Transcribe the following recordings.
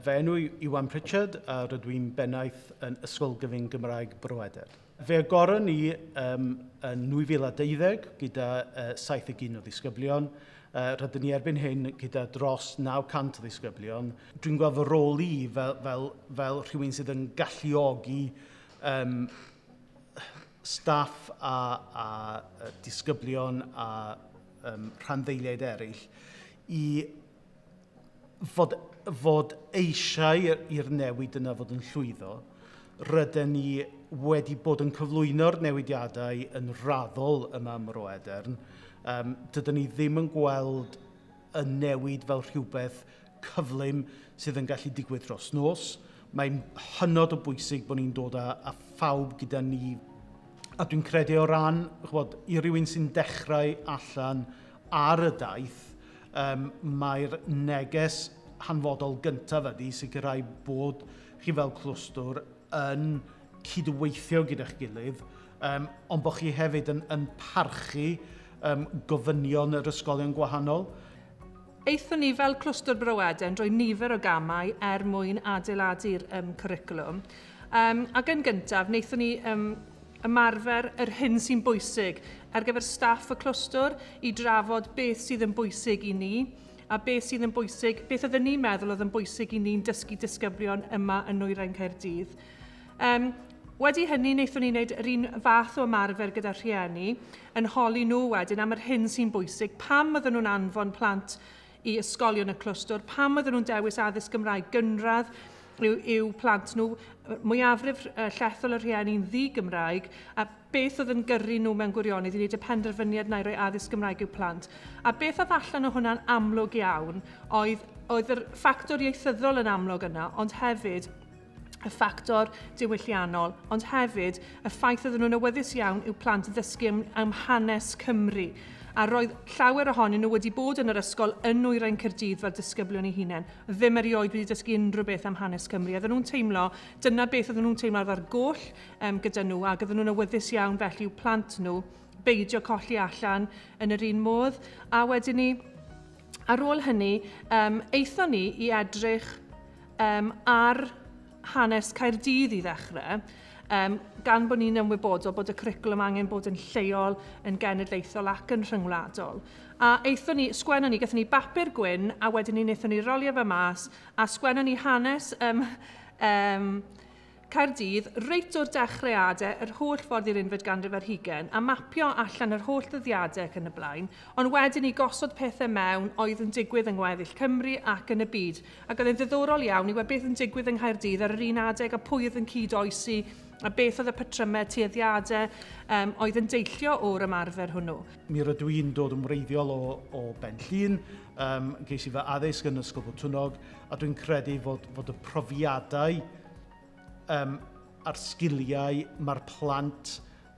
Fy enw i Iwan Pritchard a rydw i'n bennaeth yn Ysgol Gyfun Gymraeg Bro Edern. Fe agoron ni yn 2012 gyda 71 o ddisgyblion. Rydyn ni erbyn hyn gyda dros 900 o ddisgyblion. Dwi'n gweld fy rôl i fel rhywun sydd yn galluogi staff a disgyblion a rhanddeiliaid eraill i fod eisiau i'r newid yna fod yn llwyddo. Rydyn ni wedi bod yn cyflwyno'r newidiadau yn raddol yma ym Mro Edern. Dydyn ni ddim yn gweld y newid fel rhywbeth cyflym sydd yn gallu digwydd dros nos. Mae'n hynod o bwysig bod ni'n dod â phawb gyda ni. A dwi'n credu o ran, ch'bod, i rywun sy'n dechrau allan ar y daith, mae'r neges hanfodol gyntaf ydy sicrhau bod chi fel clwstwr yn cydweithio gyda'ch gilydd, ond bod chi hefyd yn parchu gofynion yr ysgolion gwahanol. Aethon ni fel clwstwr Bro Edern drwy nifer o gamau er mwyn adeiladu'r cwricwlwm. Ac yn gyntaf, wnaethon ni ymarfer yr hyn sy'n bwysig ar gyfer staff y clwstwr i drafod beth sydd yn bwysig i ni a beth sydd yn bwysig, beth oedden ni'n meddwl oedd yn bwysig i ni'n dysgu disgyblion yma yn Nwyrain Caerdydd. Wedi hynny, wnaethon ni wneud yr un fath o ymarfer gyda rhieni, yn holi nhw wedyn am yr hyn sy'n bwysig, pam oedden nhw'n anfon plant i ysgolion y clwstwr, pam oedden nhw'n dewis addysg Gymraeg gynradd i'w plant nhw, mwyafrif llethol y rhieni'n ddi-Gymraeg, a beth oedd yn gyrru nhw mewn gwirionedd i wneud y penderfyniad na i roi addysg Gymraeg i'w plant. A beth oedd allan o hwnna'n amlwg iawn oedd yr ffactor ieithyddol yn amlwg yna, ond hefyd y ffactor diwylliannol, ond hefyd y ffaith oedden nhw'n awyddus iawn i'w plant ddysgu am hanes Cymru. A roedd llawer ohonyn nhw wedi bod yn yr ysgol yn Nwyrain Caerdydd fel disgyblion eu hunain, ddim erioed wedi dysgu unrhyw beth am hanes Cymru. Oedden nhw'n teimlo, dyna beth oedden nhw'n teimlo ar goll gyda nhw, ac oedden nhw'n awyddus iawn felly i'w plant nhw beidio colli allan yn yr un modd. A wedyn ni, ar ôl hynny, aethon ni i edrych ar hanes Caerdydd i ddechrau, gan bod ni'n ymwybodol bod y cwricwlwm angen bod yn lleol, yn genedlaethol ac yn rhyngwladol. A aethon ni, sgwennon ni, gathon ni bapur gwyn, a wedyn ni wnaethon ni rolio fe mas, a sgwennon ni hanes Caerdydd reit o'r dechreuadau, yr holl ffordd i'r unfed ganrif ar hugain, a mapio allan yr holl ddyddiadau ac yn y blaen, ond wedyn ni gosod pethau mewn oedd yn digwydd yng ngweddill Cymru ac yn y byd. Ac oedd yn ddiddorol iawn i weld beth yn digwydd yng Nghaerdydd ar yr un adeg a pwy oedd yn cyd-oesi a beth oedd y patrymau tueddiadau oedd yn deillio o'r ymarfer hwnnw. Mi rydw i'n dod yn wreiddiol o Ben Llŷn, ges i fy addysg yn Ysgol Botwnnog, a dwi'n credu fod y profiadau a'r sgiliau mae'r plant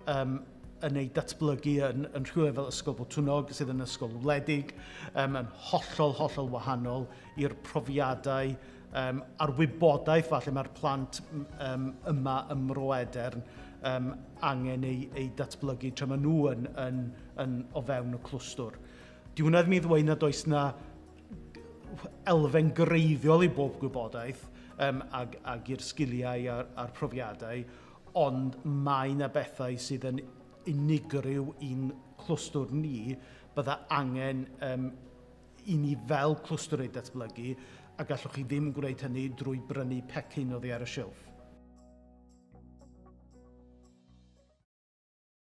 yn ei datblygu yn rhywle fel Ysgol Botwnnog, sydd yn ysgol wledig, yn hollol, hollol wahanol i'r profiadau a'r wybodaeth falle mae'r plant yma ym Mro Edern angen ei datblygu tra maen nhw yn o fewn y clwstwr. Di hwnna ddim i ddweud nad oes na elfen greiddiol i bob gwybodaeth ag i'r sgiliau a'r profiadau, ond mae yna bethau sydd yn unigryw i'n clwstwr ni, bydda angen i ni fel clwstwr ei datblygu, a gallwch chi ddim gwneud hynny drwy brynu pecyn oddi ar y silff.